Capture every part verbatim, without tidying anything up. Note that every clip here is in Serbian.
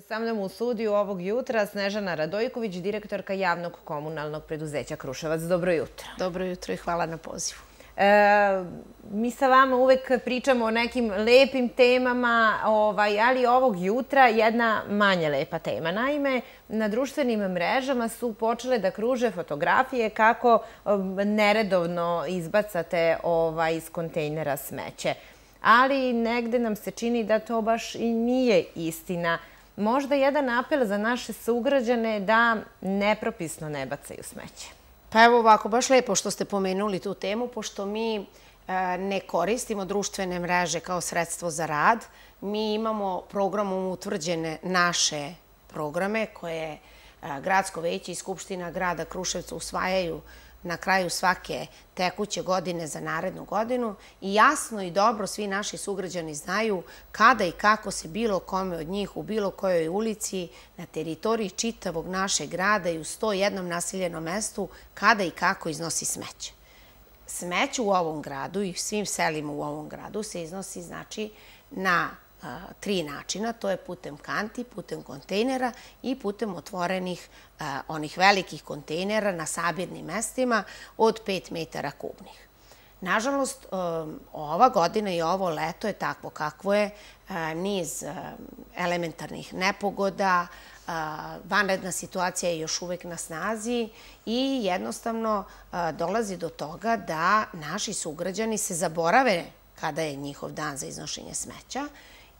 Sa mnom u studiju ovog jutra Snežana Radojković, direktorka javnog komunalnog preduzeća Kruševac. Dobro jutro. Dobro jutro i hvala na pozivu. Mi sa vama uvek pričamo o nekim lepim temama, ali ovog jutra jedna manje lepa tema. Naime, na društvenim mrežama su počele da kruže fotografije kako neredovno izbacate iz kontejnera smeće. Ali negde nam se čini da to baš i nije istina. Možda jedan apel za naše sugrađane da nepropisno ne bacaju smeće. Pa evo ovako, baš lepo što ste pomenuli tu temu, pošto mi ne koristimo društvene mreže kao sredstvo za rad. Mi imamo programom utvrđene naše programe koje Gradsko veće i Skupština grada Kruševca usvajaju na kraju svake tekuće godine za narednu godinu i jasno i dobro svi naši sugrađani znaju kada i kako se bilo kome od njih u bilo kojoj ulici na teritoriji čitavog našeg grada i u sto jednom naseljenom mestu kada i kako iznosi smeće. Smeće u ovom gradu i svim selima u ovom gradu se iznosi znači na tri načina. To je putem kanti, putem kontejnera i putem otvorenih onih velikih kontejnera na sabirnim mestima od pet metara kubnih. Nažalost, ova godina i ovo leto je takvo kakvo je, niz elementarnih nepogoda, vanredna situacija je još uvek na snazi i jednostavno dolazi do toga da naši sugrađani se zaborave kada je njihov dan za iznošenje smeća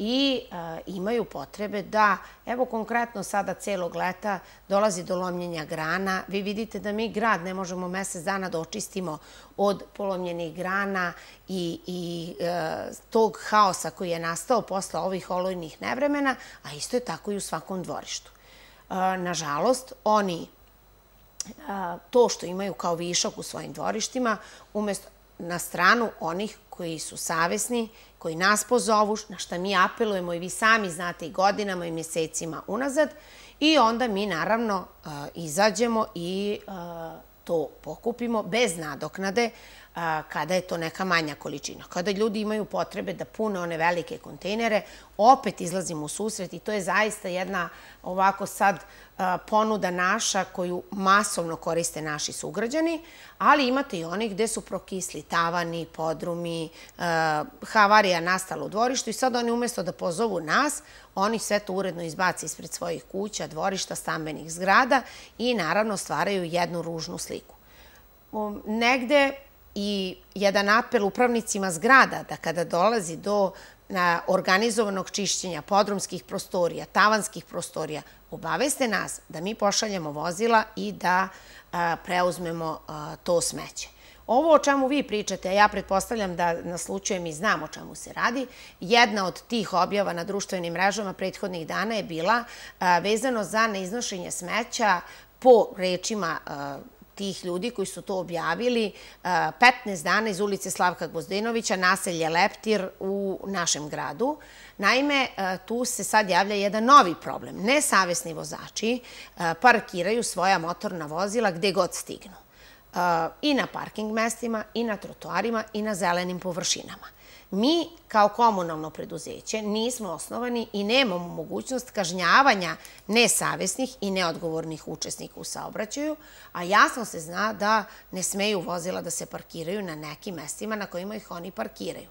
i imaju potrebe da, evo konkretno sada celog leta dolazi do lomljenja grana. Vi vidite da mi grad ne možemo mesec dana da očistimo od polomljenih grana i tog haosa koji je nastao posle ovih olujnih nevremena, a isto je tako i u svakom dvorištu. Nažalost, oni to što imaju kao višak u svojim dvorištima, umesto na stranu onih koji su savesni, koji nas pozovu, na šta mi apelujemo i vi sami znate i godinama i mesecima unazad, i onda mi naravno izađemo i to pokupimo bez nadoknade kada je to neka manja količina. Kada ljudi imaju potrebe da pune one velike kontejnere, opet izlazimo u susret i to je zaista jedna ovako sad ponuda naša koju masovno koriste naši sugrađani, ali imate i onih gde su prokisli tavani, podrumi, havarija nastala u dvorištu i sad oni umjesto da pozovu nas, oni sve to uredno izbaci ispred svojih kuća, dvorišta, stambenih zgrada i naravno stvaraju jednu ružnu sliku. Negde i jedan apel upravnicima zgrada da kada dolazi do organizovanog čišćenja podrumskih prostorija, tavanskih prostorija, obaveste nas da mi pošaljemo vozila i da preuzmemo to smeće. Ovo o čemu vi pričate, a ja pretpostavljam da naslučujem i znam o čemu se radi, jedna od tih objava na društvenim mrežama prethodnih dana je bila vezano za neiznošenje smeća po rečima tih ljudi koji su to objavili petnaest dana iz ulice Slavka Gvozdenovića, naselje Leptir u našem gradu. Naime, tu se sad javlja jedan novi problem. Nesavesni vozači parkiraju svoja motorna vozila gde god stignu. I na parking mestima, i na trotoarima, i na zelenim površinama. Mi, kao komunalno preduzeće, nismo osnovani i nemamo mogućnost kažnjavanja nesavesnih i neodgovornih učesnika u saobraćaju, a jasno se zna da ne smeju vozila da se parkiraju na nekim mestima na kojima ih oni parkiraju.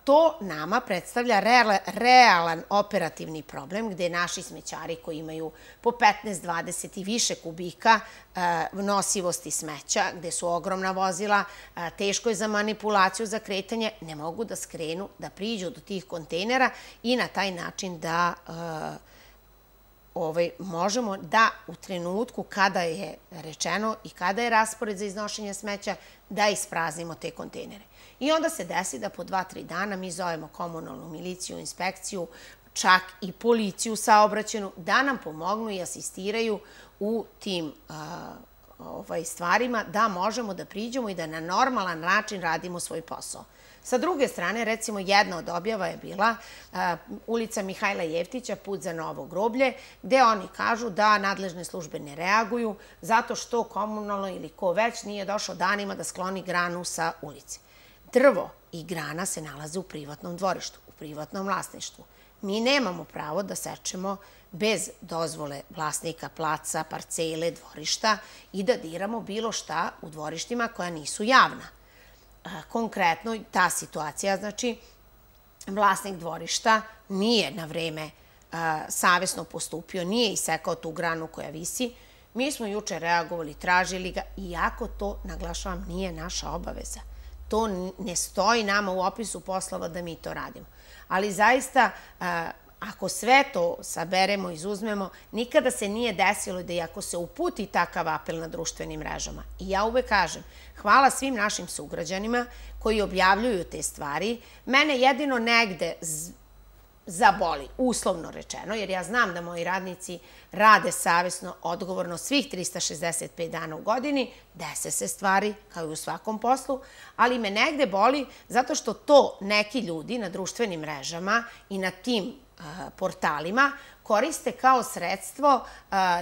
To nama predstavlja realan operativni problem gde naši smećari koji imaju po petnaest, dvadeset i više kubika nosivosti smeća, gde su ogromna vozila, teško je za manipulaciju, za kretanje, ne mogu da skrenu, da priđu do tih kontejnera i na taj način da možemo da u trenutku kada je rečeno i kada je raspored za iznošenje smeća da ispraznimo te kontejnere. I onda se desi da po dva, tri dana mi zovemo komunalnu miliciju, inspekciju, čak i policiju saobraćajnu da nam pomognu i asistiraju u tim stvarima da možemo da priđemo i da na normalan način radimo svoj posao. Sa druge strane, recimo, jedna od objava je bila ulica Mihajla Jeftića, put za Novo groblje, gde oni kažu da nadležne službe ne reaguju zato što komunalno ili ko već nije došao danima da skloni granu sa ulice. Drvo i grana se nalaze u privatnom dvorištu, u privatnom vlasništvu. Mi nemamo pravo da sečemo bez dozvole vlasnika placa, parcele, dvorišta i da diramo bilo šta u dvorištima koja nisu javna. Konkretno, ta situacija, znači, vlasnik dvorišta nije na vreme savesno postupio, nije isekao tu granu koja visi. Mi smo juče reagovali, tražili ga, iako to, naglašavam, nije naša obaveza. To ne stoji nama u opisu poslova da mi to radimo. Ali zaista, ako sve to saberemo, izuzmemo, nikada se nije desilo da i ako se uputi takav apel na društvenim mrežama. I ja uvek kažem, hvala svim našim sugrađanima koji objavljuju te stvari. Mene jedino negde zaboli, uslovno rečeno, jer ja znam da moji radnici rade savesno, odgovorno svih trista šezdeset pet dana u godini, dese se stvari kao i u svakom poslu, ali me negde boli zato što to neki ljudi na društvenim mrežama i na tim portalima koriste kao sredstvo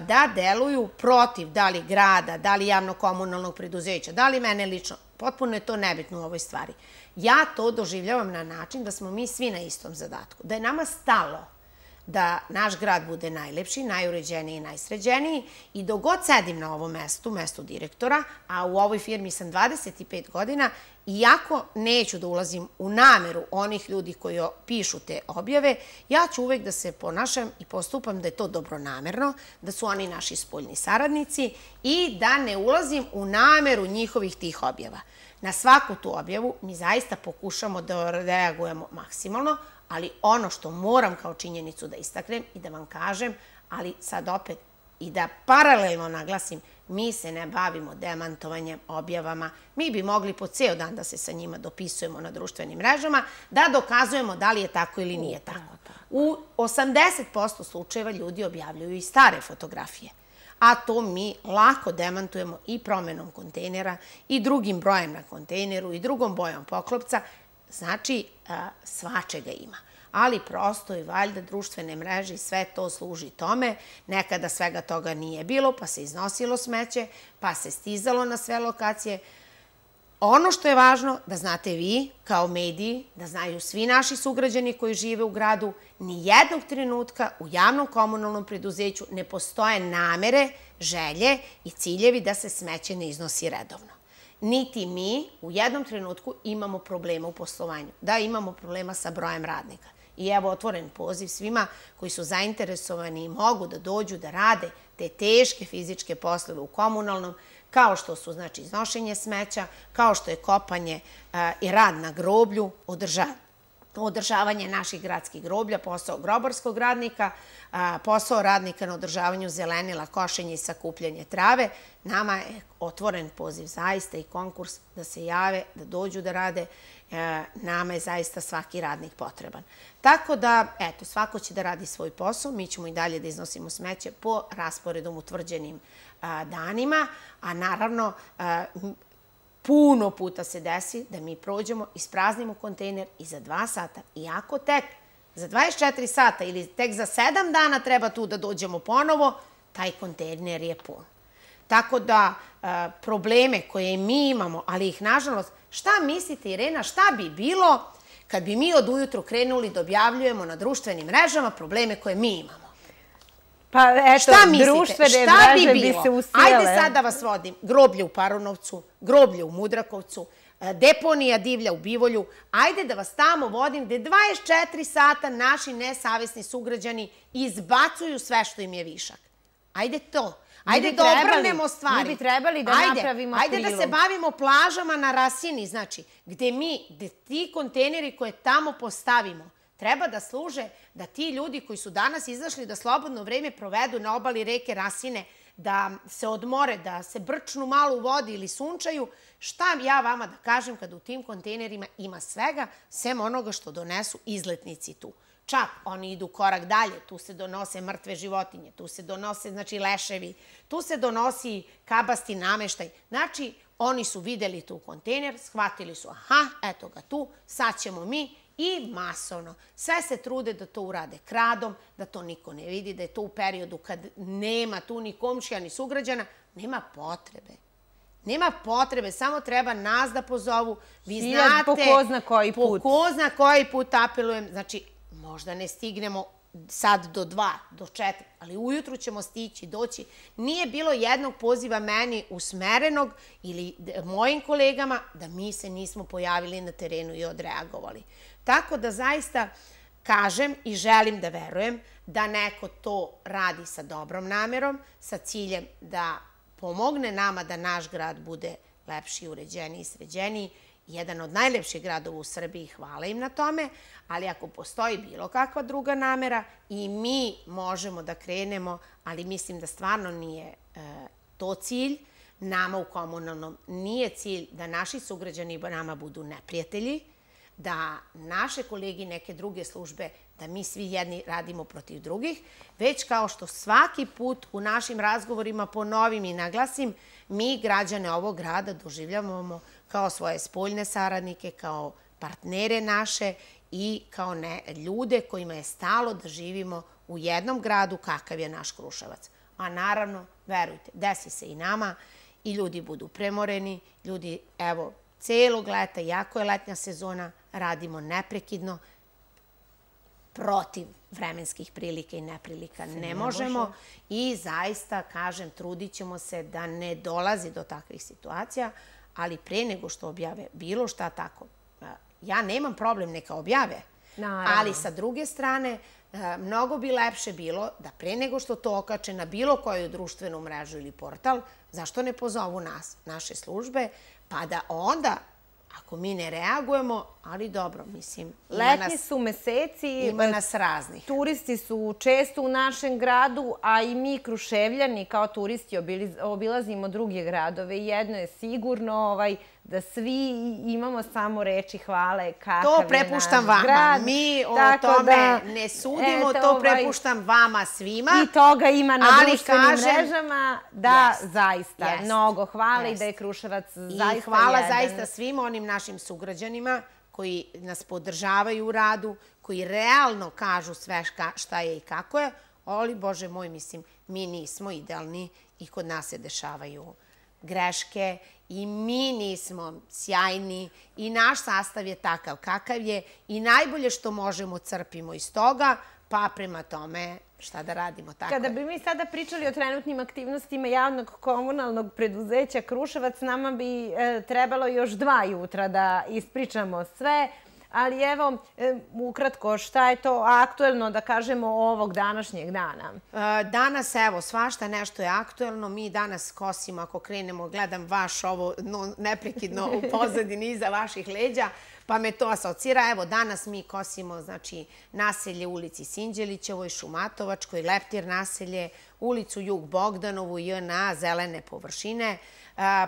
da deluju protiv da li grada, da li javno-komunalnog preduzeća, da li mene lično. Potpuno je to nebitno u ovoj stvari. Ja to doživljavam na način da smo mi svi na istom zadatku. Da je nama stalo da naš grad bude najlepši, najuređeniji i najsređeniji i dok god sedim na ovom mestu, mestu direktora, a u ovoj firmi sam dvadeset pet godina, iako neću da ulazim u nameru onih ljudi koji pišu te objave, ja ću uvek da se ponašam i postupam da je to dobronamerno, da su oni naši spoljni saradnici i da ne ulazim u nameru njihovih tih objava. Na svaku tu objavu mi zaista pokušamo da reagujemo maksimalno, ali ono što moram kao činjenicu da istaknem i da vam kažem, ali sad opet i da paralelno naglasim, mi se ne bavimo demantovanjem, objavama. Mi bi mogli po ceo dan da se sa njima dopisujemo na društvenim mrežama, da dokazujemo da li je tako ili nije tako. U osamdeset posto slučajeva ljudi objavljuju i stare fotografije, a to mi lako demantujemo i promenom kontejnera i drugim brojem na kontejneru i drugom bojom poklopca. Znači, svačega ima. Ali prosto i valjda društvene mreže i sve to služi tome. Nekada svega toga nije bilo, pa se iznosilo smeće, pa se stizalo na sve lokacije. Ono što je važno da znate vi kao mediji, da znaju svi naši sugrađani koji žive u gradu, ni jednog trenutka u javnom komunalnom preduzeću ne postoje namere, želje i ciljevi da se smeće ne iznosi redovno. Niti mi u jednom trenutku imamo problema u poslovanju, da imamo problema sa brojem radnika. I evo otvoren poziv svima koji su zainteresovani i mogu da dođu da rade te teške fizičke poslove u komunalnom, kao što su znači iznošenje smeća, kao što je kopanje i rad na groblju, održavanje naših gradskih groblja, posao grobarskog radnika, posao radnika na održavanju zelenila, košenje i sakupljanje trave. Nama je otvoren poziv zaista i konkurs da se jave, da dođu da rade. Nama je zaista svaki radnik potreban. Tako da, eto, svako će da radi svoj posao. Mi ćemo i dalje da iznosimo smeće po rasporedom utvrđenim danima, a naravno puno puta se desi da mi prođemo, ispraznimo kontejner i za dva sata, iako tek za dvadeset četiri sata ili tek za sedam dana treba tu da dođemo ponovo, taj kontejner je pun. Tako da probleme koje mi imamo, ali ih nažalost, šta mislite Irena, šta bi bilo kad bi mi od ujutru krenuli da objavljujemo na društvenim mrežama probleme koje mi imamo? Pa eto, društvene mreže bi se usijale. Ajde sad da vas vodim. Groblje u Paronovcu, groblje u Mudrakovcu, deponija divlja u Bivolju. Ajde da vas tamo vodim gde dvadeset četiri sata naši nesavesni sugrađani izbacuju sve što im je višak. Ajde to. Ajde da obrnemo stvari. Mi bi trebali da napravimo prilog. Ajde da se bavimo plažama na Rasini, znači, gde mi, gde ti kontejneri koje tamo postavimo, treba da služe da ti ljudi koji su danas izašli da slobodno vreme provedu na obali reke Rasine, da se odmore, da se brčnu malo u vodi ili sunčaju, šta ja vama da kažem kada u tim kontejnerima ima svega, sem onoga što donesu izletnici tu. Čak oni idu korak dalje, tu se donose mrtve životinje, tu se donose znači leševi, tu se donosi kabasti nameštaj. Znači, oni su videli tu kontejner, shvatili su, aha, eto ga tu, sad ćemo mi i masovno. Sve se trude da to urade kradom, da to niko ne vidi, da je to u periodu kad nema tu ni komšija, ni sugrađana, nema potrebe. Nema potrebe, samo treba nas da pozovu. Vi znate, po ko zna koji put. Po ko zna koji put apelujem. Znači, možda ne stignemo sad do dva, do četiri, ali ujutru ćemo stići, doći. Nije bilo jednog poziva meni usmerenog ili mojim kolegama da mi se nismo pojavili na terenu i odreagovali. Tako da zaista kažem i želim da verujem da neko to radi sa dobrom namerom, sa ciljem da pomogne nama da naš grad bude lepši, uređeniji i sređeniji. Jedan od najlepših gradova u Srbiji, hvala im na tome, ali ako postoji bilo kakva druga namera i mi možemo da krenemo, ali mislim da stvarno nije to cilj, nama u komunalnom nije cilj da naši sugrađani nama budu neprijatelji, da naše kolegi neke druge službe, da mi svi jedni radimo protiv drugih, već kao što svaki put u našim razgovorima ponovim i naglasim, mi građane ovog grada doživljavamo kao svoje spoljne saradnike, kao partnere naše i kao ljude kojima je stalo da živimo u jednom gradu kakav je naš Kruševac. A naravno, verujte, desi se i nama i ljudi budu premoreni, ljudi, evo, celog leta, jako je letnja sezona, radimo neprekidno, protiv vremenskih prilika i neprilika ne možemo i zaista, kažem, trudit ćemo se da ne dolazi do takvih situacija, ali pre nego što objave bilo šta tako, ja nemam problem, neka objave, ali sa druge strane, mnogo bi lepše bilo da pre nego što to okače na bilo koju društvenu mrežu ili portal, zašto ne pozovu nas, naše službe, pa da onda, ako mi ne reagujemo, ali dobro, mislim... Letnji su meseci. Ima nas raznih. Turisti su često u našem gradu, a i mi Kruševljani kao turisti obilazimo druge gradove. Jedno je sigurno da svi imamo samo reči hvale kakav je naš grad. To prepuštam vama. Mi o tome ne sudimo, to prepuštam vama svima. I toga ima na društvenim mrežama. Da, zaista, mnogo hvala i da je Kruševac zaista jedan. I hvala zaista svim onim našim sugrađanima koji nas podržavaju u radu, koji realno kažu sve šta je i kako je, ali, Bože moj, mislim, mi nismo idealni i kod nas se dešavaju greške i mi nismo sjajni i naš sastav je takav kakav je i najbolje što možemo crpimo iz toga, pa prema tome šta da radimo, tako je. Kada bi mi sada pričali o trenutnim aktivnostima javnog komunalnog preduzeća Kruševac, nama bi trebalo još dva jutra da ispričamo sve, ali evo, ukratko, šta je to aktuelno, da kažemo, ovog današnjeg dana? Danas, evo, svašta nešto je aktuelno. Mi danas kosimo, ako krenemo, gledam vaš ovo neprekidno u pozadini iza vaših leđa, pa me to asocira. Evo, danas mi kosimo, znači, naselje u ulici Sinđelićevoj, Šumatovačkoj, Leptir naselje, ulicu Jug Bogdanovu, J N A, zelene površine.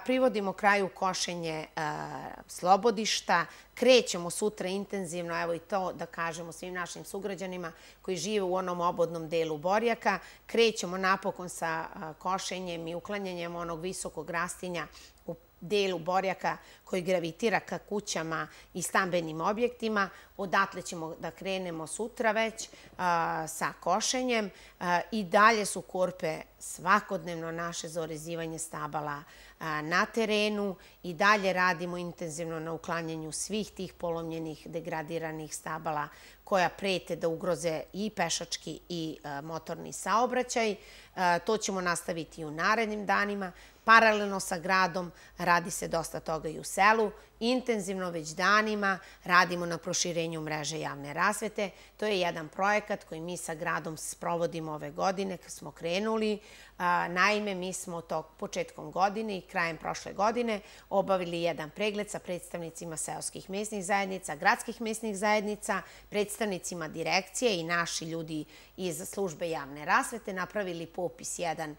Privodimo kraju košenje Slobodišta. Krećemo sutra intenzivno, evo i to da kažemo svim našim sugrađanima koji žive u onom obodnom delu Borjaka. Krećemo napokon sa košenjem i uklanjanjem onog visokog rastinja u delu Borjaka koji gravitira ka kućama i stambenim objektima. Odatle ćemo da krenemo sutra već sa košenjem. I dalje su korpe svakodnevno naše za orezivanje stabala na terenu i dalje radimo intenzivno na uklanjanju svih tih polomljenih, degradiranih stabala koja prete da ugroze i pešački i motorni saobraćaj. To ćemo nastaviti i u narednim danima. Paralelno sa gradom radi se dosta toga i u selu. Intenzivno već danima radimo na proširenju mreže javne rasvete. To je jedan projekat koji mi sa gradom sprovodimo ove godine kad smo krenuli. Naime, mi smo to početkom godine i krajem prošle godine obavili jedan pregled sa predstavnicima seoskih mesnih zajednica, gradskih mesnih zajednica, predstavnicima direkcije i naši ljudi iz službe javne rasvete, napravili popis jedan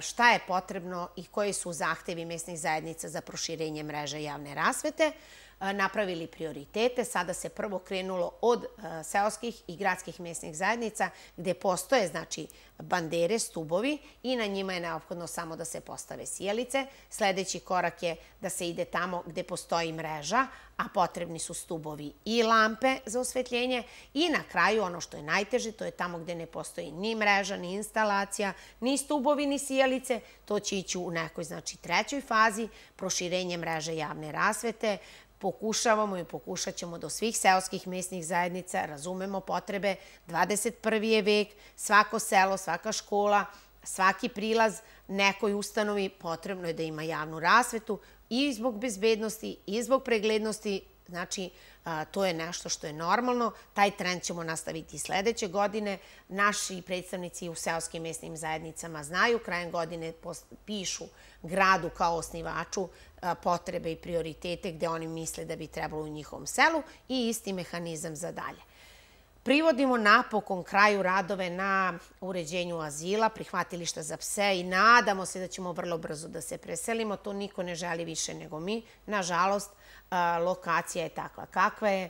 šta je potrebno i koji su zahtevi mesnih zajednica za proširenje mreže javne rasvete, napravili prioritete. Sada se prvo krenulo od seoskih i gradskih mesnih zajednica gde postoje, znači, bandere, stubovi i na njima je neophodno samo da se postave sijalice. Sledeći korak je da se ide tamo gde postoji mreža, a potrebni su stubovi i lampe za osvetljenje. I na kraju, ono što je najteže, to je tamo gde ne postoji ni mreža, ni instalacija, ni stubovi, ni sijalice. To će ići u nekoj, znači, trećoj fazi, proširenje mreže javne rasvete. pokušavamo i pokušat ćemo do svih seoskih mesnih zajednica, razumemo potrebe, dvadeset prvi je vek, svako selo, svaka škola, svaki prilaz nekoj ustanovi potrebno je da ima javnu rasvetu i zbog bezbednosti i zbog preglednosti. Znači, to je nešto što je normalno. Taj trend ćemo nastaviti i sledeće godine. Naši predstavnici u seoskim mesnim zajednicama znaju, krajem godine pišu gradu kao osnivaču potrebe i prioritete gde oni misle da bi trebalo u njihovom selu i isti mehanizam za dalje. Privodimo napokon kraju radove na uređenju azila, prihvatilišta za pse i nadamo se da ćemo vrlo brzo da se preselimo. To niko ne želi više nego mi. Nažalost, lokacija je takva kakva je.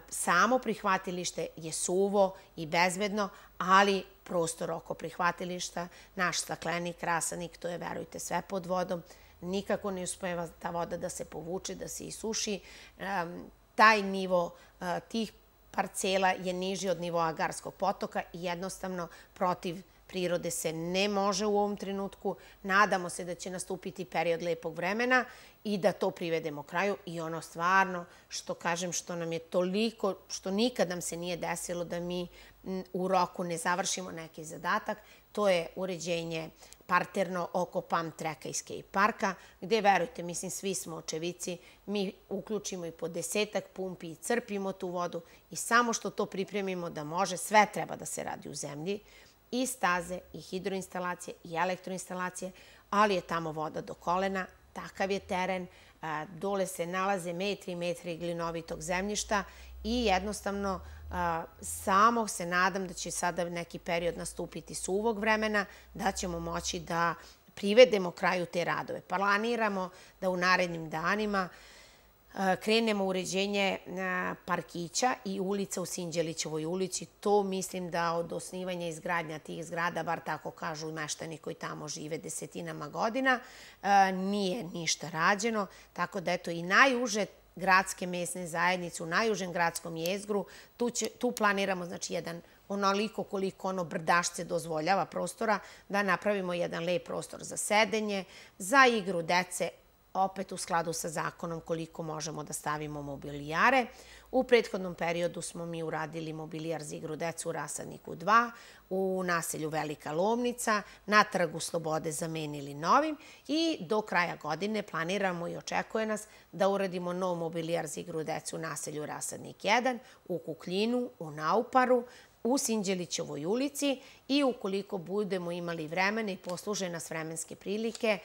Samo prihvatilište je suvo i bezbedno, ali prostor oko prihvatilišta, naš staklenik, rasadnik, to je, verujte, sve pod vodom. Nikako ne uspeva ta voda da se povuče, da se isuši. Taj nivo tih parcela je niži od nivoa Garskog potoka i jednostavno protiv prirode se ne može u ovom trenutku. Nadamo se da će nastupiti period lepog vremena i da to privedemo kraju. I ono stvarno, što kažem, što nam je toliko, što nikad nam se nije desilo da mi u roku ne završimo neki zadatak, to je uređenje parterno oko Pump Tracka i Skate Parka, gde, verujte, mislim, svi smo očevici, mi uključimo i po desetak pumpi i crpimo tu vodu i samo što to pripremimo da može, sve treba da se radi u zemlji, i staze, i hidroinstalacije, i elektroinstalacije, ali je tamo voda do kolena, takav je teren, dole se nalaze metri i metri glinovitog zemljišta i jednostavno samo se nadam da će sada neki period nastupiti suvog vremena, da ćemo moći da privedemo kraju te radove. Planiramo da u narednim danima krenemo uređenje parkića i ulica u Sinđelićevoj ulici. To mislim da od osnivanja i izgradnja tih zgrada, bar tako kažu meštani koji tamo žive desetinama godina, nije ništa rađeno. Tako da, eto, i najuže gradske mesne zajednice u najužem gradskom jezgru, tu planiramo, znači, jedan onoliko koliko ono brdašce dozvoljava prostora, da napravimo jedan lep prostor za sedenje, za igru dece, opet u skladu sa zakonom koliko možemo da stavimo mobilijare. U prethodnom periodu smo mi uradili mobilijar za igru decu u Rasadniku dva, u naselju Velika Lomnica, na Trgu Slobode zamenili novim i do kraja godine planiramo i očekuje nas da uradimo nov mobilijar za igru decu u naselju Rasadnik jedan, u Kukljinu, u Nauparu, u Sinđelićevoj ulici i ukoliko budemo imali vremena i posluže nas vremenske prilike,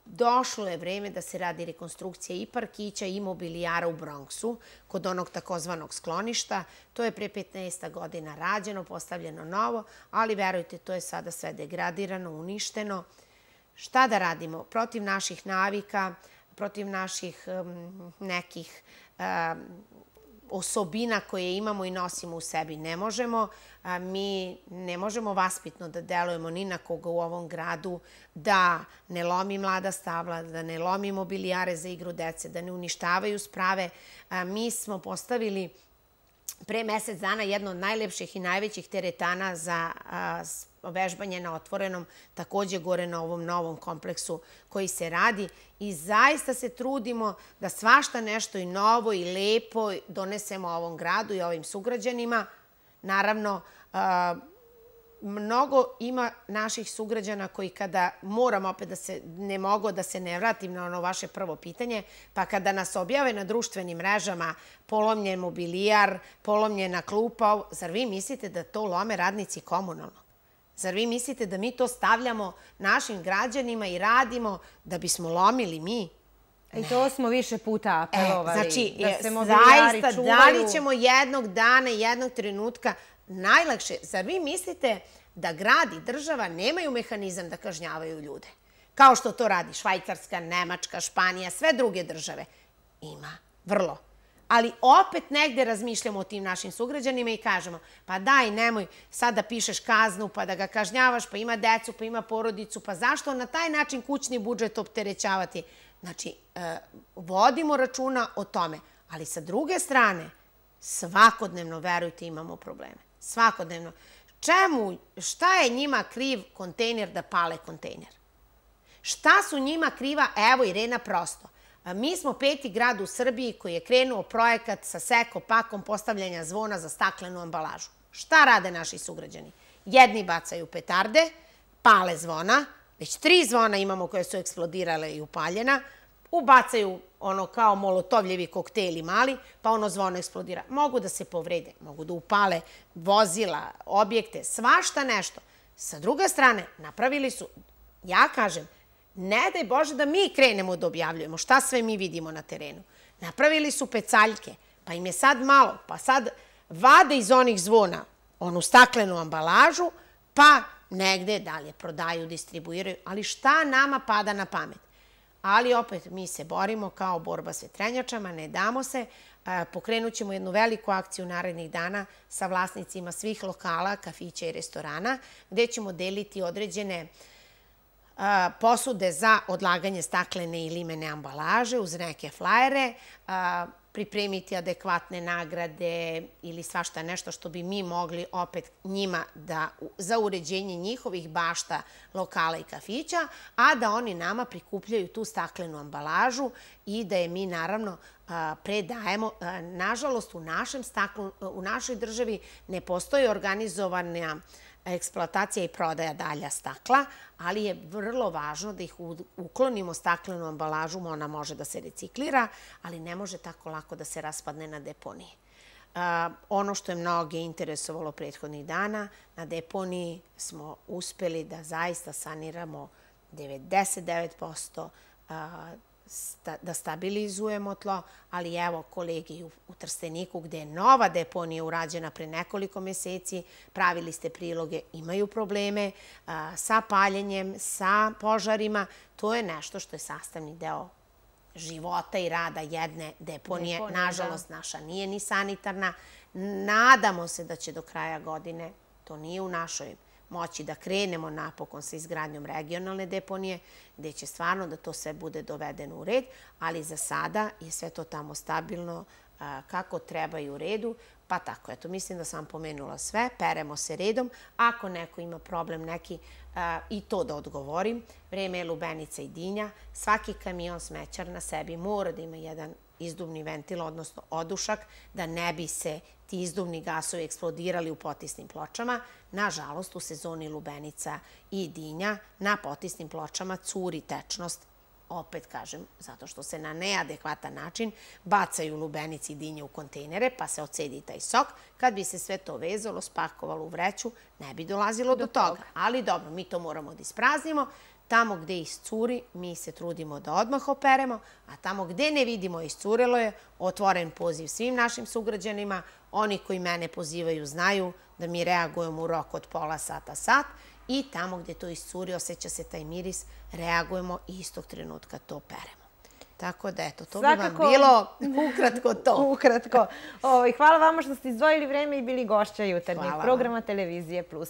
došlo je vreme da se radi rekonstrukcija i parkića i mobilijara u Bronxu, kod onog takozvanog skloništa. To je pre petnaest godina rađeno, postavljeno novo, ali verujte, to je sada sve degradirano, uništeno. Šta da radimo? Protiv naših navika, protiv naših nekih osobina koje imamo i nosimo u sebi ne možemo. Mi ne možemo vaspitno da delujemo ni na koga u ovom gradu, da ne lomi mlada stabla, da ne lomi mobilijare za igru dece, da ne uništavaju sprave. Mi smo postavili pre mesec dana jedno od najlepših i najvećih teretana za vežbanje na otvorenom, takođe gore na ovom novom kompleksu koji se radi i zaista se trudimo da svašta nešto i novo i lepo donesemo ovom gradu i ovim sugrađanima. Naravno, mnogo ima naših sugrađana koji kada, moram opet da se, ne mogu da se ne vratim na ono vaše prvo pitanje, pa kada nas objave na društvenim mrežama polomljen mobilijar, polomljena klupa, zar vi mislite da to lome radnici komunalnog? Zar vi mislite da mi to stavljamo našim građanima i radimo da bismo lomili mi? I to smo više puta apelovali. Znači, zaista, da li ćemo jednog dana, jednog trenutka najlakše, zar vi mislite da grad i država nemaju mehanizam da kažnjavaju ljude? Kao što to radi Švajcarska, Nemačka, Španija, sve druge države. Ima, vrlo. Ali opet negde razmišljamo o tim našim sugrađanima i kažemo, pa daj, nemoj sad da pišeš kaznu, pa da ga kažnjavaš, pa ima decu, pa ima porodicu, pa zašto na taj način kućni budžet opterećavati? Znači, vodimo računa o tome. Ali sa druge strane, svakodnevno, verujte, imamo probleme. Svakodnevno. Čemu, šta je njima kriv kontejner da pale kontejner? Šta su njima kriva, evo Irena prosto, Mi smo peti grad u Srbiji koji je krenuo projekat sa seko pakom postavljanja zvona za staklenu ambalažu. Šta rade naši sugrađani? Jedni bacaju petarde, pale zvona, već tri zvona imamo koje su eksplodirale i upaljena, ubacaju ono kao molotovljevi koktejli mali, pa ono zvono eksplodira. Mogu da se povrede, mogu da upale vozila, objekte, svašta nešto. Sa druge strane, napravili su, ja kažem, ne daj Bože da mi krenemo da objavljujemo šta sve mi vidimo na terenu. Napravili su pecaljke, pa im je sad malo, pa sad vade iz onih zvona onu staklenu ambalažu, pa negde dalje prodaju, distribuiraju, ali šta nama pada na pamet? Ali opet mi se borimo kao borba s vetrenjačama, ne damo se. Pokrenut ćemo jednu veliku akciju narednih dana sa vlasnicima svih lokala, kafića i restorana, gde ćemo deliti određene posude za odlaganje staklene i limene ambalaže uz neke flajere, pripremiti adekvatne nagrade ili svašta nešto što bi mi mogli opet njima da, za uređenje njihovih bašta, lokala i kafića, a da oni nama prikupljaju tu staklenu ambalažu i da je mi naravno predajemo. Nažalost, u našem staklu, u našoj državi ne postoji organizovana eksploatacija i prodaja dalja stakla, ali je vrlo važno da ih uklonimo staklenu ambalažu, ona može da se reciklira, ali ne može tako lako da se raspadne na deponiji. Ono što je mnoge interesovalo prethodnih dana, na deponiji smo uspeli da zaista saniramo devedeset devet posto, da stabilizujemo tlo, ali evo kolegi u Trsteniku gde je nova deponija urađena pre nekoliko meseci, pravili ste priloge, imaju probleme sa paljenjem, sa požarima. To je nešto što je sastavni deo života i rada jedne deponije. Nažalost, naša nije ni sanitarna. Nadamo se da će do kraja godine, to nije u našoj moći, da krenemo napokon sa izgradnjom regionalne deponije, gde će stvarno da to sve bude dovedeno u red, ali za sada je sve to tamo stabilno, kako treba i u redu. Pa tako, eto, mislim da sam pomenula sve, peremo se redom. Ako neko ima problem neki, i to da odgovorim, vreme je lubenica i dinja. Svaki kamion smećar na sebi mora da ima jedan izduvni ventil, odnosno odušak, da ne bi se ti izduvni gasovi eksplodirali u potisnim pločama. Nažalost, u sezoni lubenica i dinja na potisnim pločama curi tečnost. Opet kažem, zato što se na neadekvatan način bacaju lubenici i dinje u kontejnere, pa se ocedi taj sok. Kad bi se sve to vezalo, spakovalo u vreću, ne bi dolazilo do toga. Ali dobro, mi to moramo da ispraznimo. Tamo gde iscuri, mi se trudimo da odmah operemo, a tamo gde ne vidimo iscurelo je, otvoren poziv svim našim sugrađanima. Oni koji mene pozivaju znaju da mi reagujemo u roku od pola sata, sat, i tamo gde to iscuri, osjeća se taj miris, reagujemo i istog trenutka to peremo. Tako da, eto, to bi vam bilo ukratko to. Ukratko. Hvala vama što ste izdvojili vreme i bili gošća jutarnjeg programa Televizije Plus.